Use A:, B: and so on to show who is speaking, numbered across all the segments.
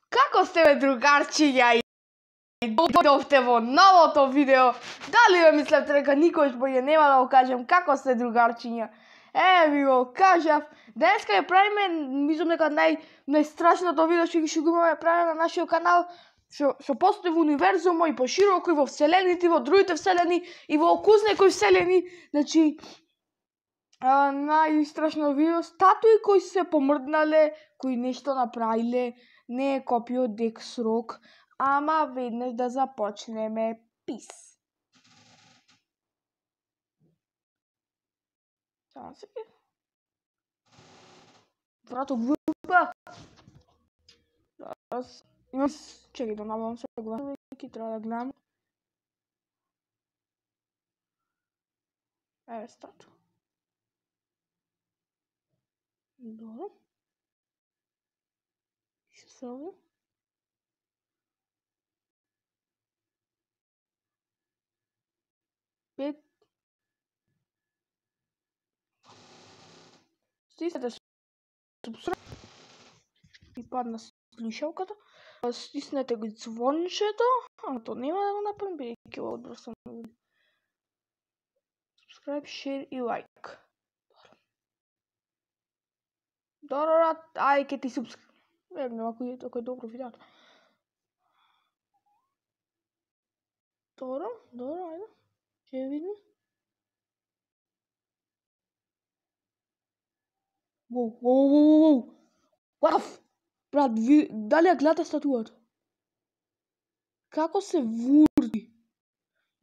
A: Како сте, бе, другарчиња? Дојдовте во новото видео. Дали ме мислевте дека никош боје нема да го кажем како сте, другарчиња? Ви го кажав. Денеска ја правиме, мислам дека најстрашното видео што го имаме правиме на нашиот канал, што постои во универзумот и пошироко и во вселените, и во другите вселени, и во окузникои вселени. Значи, најстрашно видео, статуи кои се помрднале, кои нешто направиле, не е копија од Дексрок, ама веднаш да започнеме. Пис. Само се. Врато глупа. Имам... Чекай да набавам се гласа, веќе треба да гледам. Стату. Добро. Што се овде? Пет. Стиснете субскрайб и падна слушалката. Стиснете го звончето, то нема да го направим, бидејќи ова одбрсам. Subscribe, share и лайк. Добро, ај ке ти subscribe. Ако е добро видеото. Добро, ајде. Ќе видим. Воу. Ваф! Брат, дали ја гледате статуата? Како се вурди?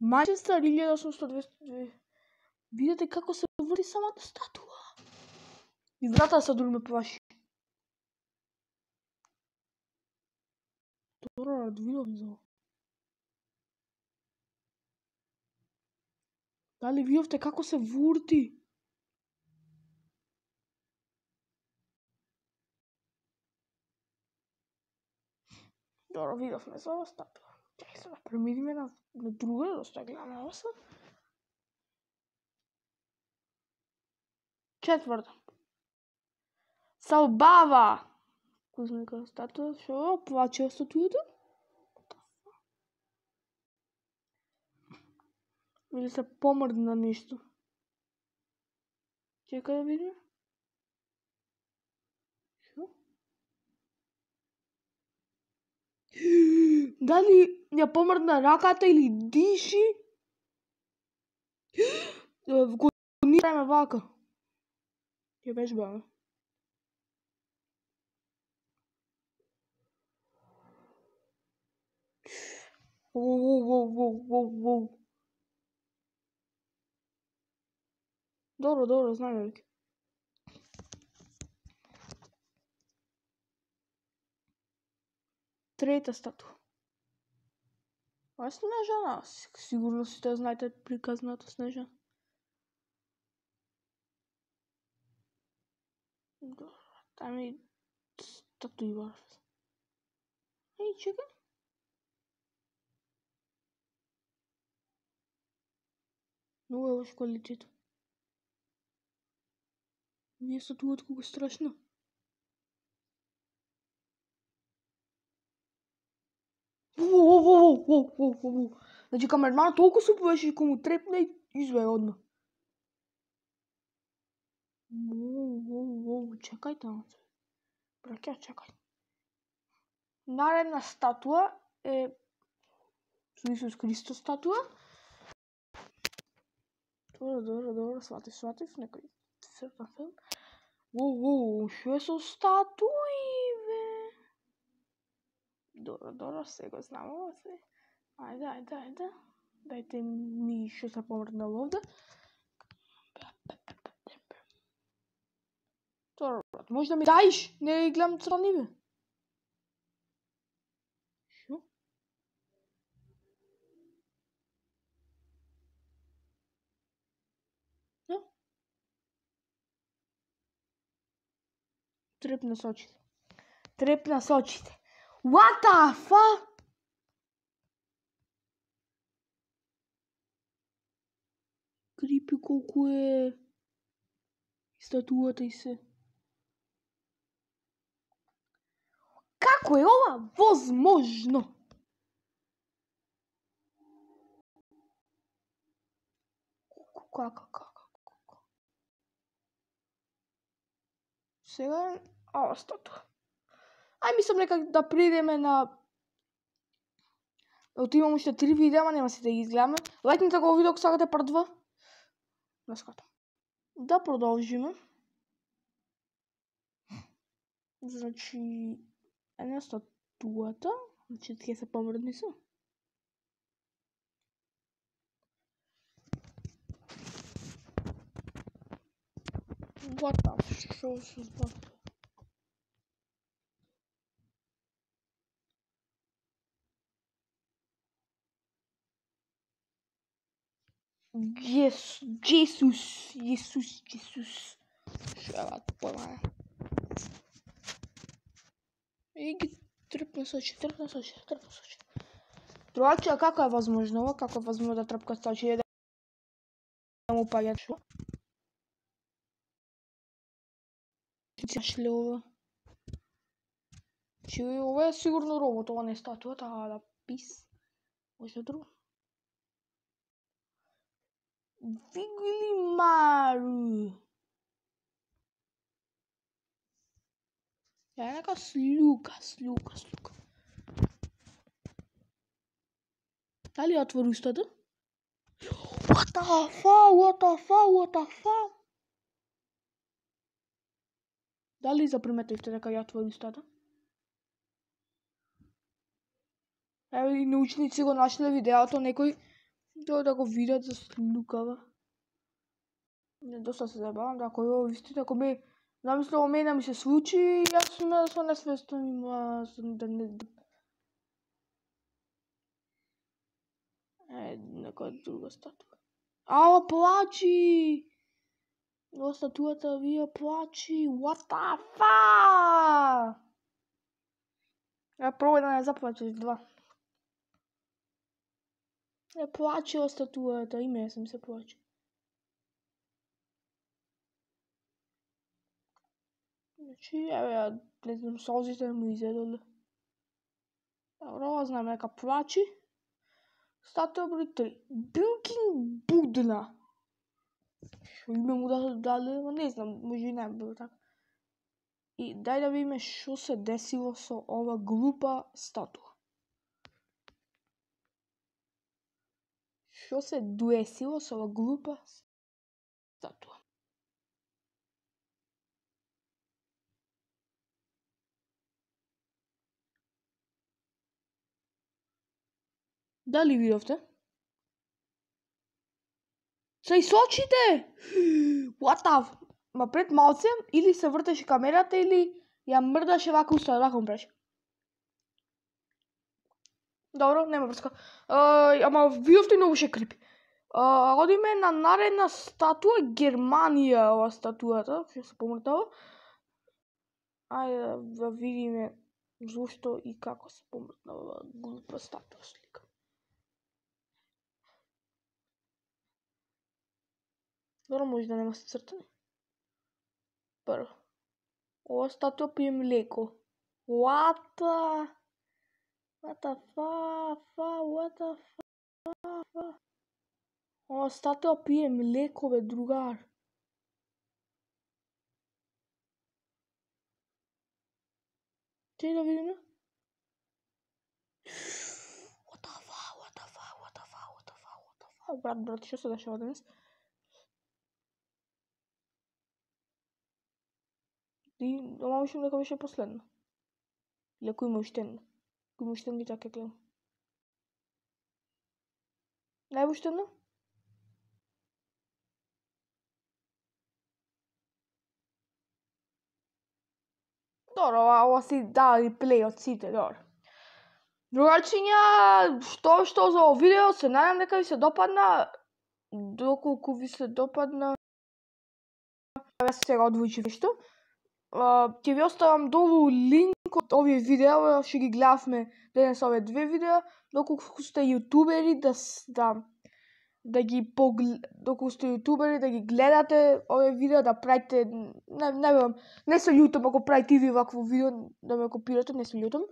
A: Манчестер 1822. Видете како се вурди самата статуа. И врата се дури ме плаши. Добро, видовме за ова. Дали видовте како се вурди? Добро, видовме за ова статуа. Чекай се да премириме на друга, да што гледаме ова се. Четврта. Салбава. Кузмика статуа, шо? Плаче статуата? Или се помрдна нешто? Чекај да видиме. Шо? Дали ја помрдна раката или диши? Го ни правиме вака. Ќе вежбаме. Воу. Добро, знаеме веќе. Трета статуа. Ова е Снежана. Сигурно сите знаете приказната Снежана. Добро, тај статуи барф. Чекай. Много е лош квалитет. Вие статуата колку е страшна. Воу. Значи камерманот толку се повеше кога му трепна и извеја одма. Воу, чекај таму. Браќа, чекај. Наредна статуа е Исус Христос статуа. Добро, сватив, некој цртан филм. Воу, шо е со статуи, бе? Добро, сега знамо се. Ајде. Дајте ми шо се помрднало овде. Добро, брат, може да ми даиш? Не гледам цртани, бе. Шо? Трепна со очите. What the fuck? Крипи колку е статуата и се. Како е ова возможно? Како? Сега статуа. Ај мислам нека да придеме на... Отимам уште 3 видеа, нема се да ги изгледаме. Лајкнете го видео ако сакате part 2. Не скатам. Да продолжиме. Значи... Една статуата. Значи ќе се помрдни се. What the f***, што се збава? Jesus. Шева појма е. И ги трпна с очи. Другаче, како е возможно ова? Како е возможно да трпка с очи? Да му паѓа шо? Шле ова? Че ова е сигурно робот, ова не е статуата, да пис. Може друго? Вигли Мару. Е нека слука. Дали отвори устата? What the fuck? Дали заприметивте дека ја отвори устата? Еве и научници го нашле видеото, некој да го видат за слукава. Доста се забавам, да кој ово вистина, ако ми намислам мене ми се случи, јас сме со несвестен има да не... Некоја друга статуа. Ала плачи! Ова статуата вија плачи, what the fuck? Пробај да не заплачеш, 2. Плаче ова статуата, и мене ми се плаче. Значи, еве, не знам, солзите му изедоле. Добро, ова знам дека плачи. Статуа број 3. Билкин Будна. Шо име му дали, не знам, може и не било така. И дај да видиме шо се десило со ова глупа статуа. Шо се десило со ова глупа статуа. Дали видовте? Се и сочите! What the... Ма пред малце или се вртеше камерата или ја мрдаше вака устата, вака му преше. Добро, нема врска. Ама видовте многу ше крипи. Одиме на наредна статуа, Германија, ова статуата, што се помртава. Ајде да видиме зошто и како се помртнава глупа статуа слика. Добро, може да нема се цртани. Прво. Ова статуа пие млеко. What the fuck? Ова статуа пие млеко, бе, другар. Чеј да видиме. What the fuck? Брат, што се дешава денес? И ама мислам дека беше последно. Или ако има уште едно. Ако има уште едно, така гледам. Не е уште едно? Добро, ова си дали плей од сите, добро. Другарчиња, што за ово видео, се надам дека ви се допадна. Доколку ви се допадна, јас сега одвојчив нешто. Ќе ви оставам долу линк од овие видеа, што ги гледавме денес овие 2 видеа, доколку сте јутубери да да ги доколку сте јутубери, да ги гледате овие видео, да правите, не знам, не се љутам ако правите и ви вакво видео, да ме копирате, не се љутам.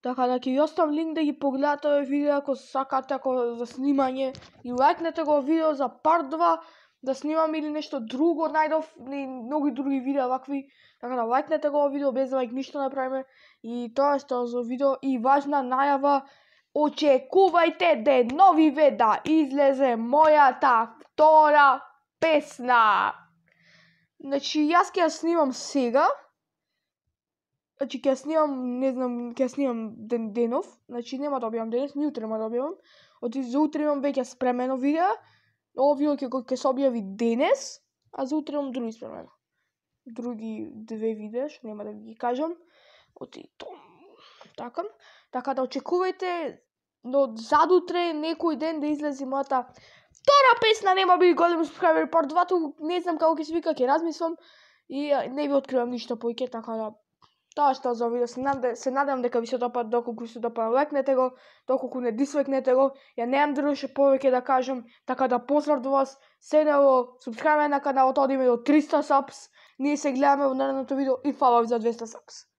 A: Така да ќе ви оставам линк да ги погледате овие видео ако сакате, ако за снимање, и лајкнете го видео за part 2, да снимам или нешто друго, најдов и многу други видеа вакви, така да лајкнете го видео, без лајк ништо не правиме, и тоа е што за видео. И важна најава, очекувајте деновиве да излезе мојата втора песна. Значи, јас ќе ја снимам сега, значи ќе ја снимам, не знам, ќе ја снимам денов, значи нема да објавам денес, ни утре нема да објавам, за утре имам веќе спремено видео, овие ќе се објави денес, а за утре имам други спремено. Други 2 видеа, што нема да ги кажам, така да очекувајте но задутре некој ден да излезе мојата втора песна, нема би голем субскрайбери part 2, не знам како ќе се вика, ќе размислам и не ви откривам ништо повеќе, така да тоа што за видео, се надевам дека ви се допаѓа, доколку се допаѓа лајкнете го, доколку не дислајкнете го, ја немам друго повеќе да кажам, така да поздрав до вас, седнало, субскрајбај на каналот, одиме до 300 subs, ние се гледаме во наредното видео и фала ви за 200 subs.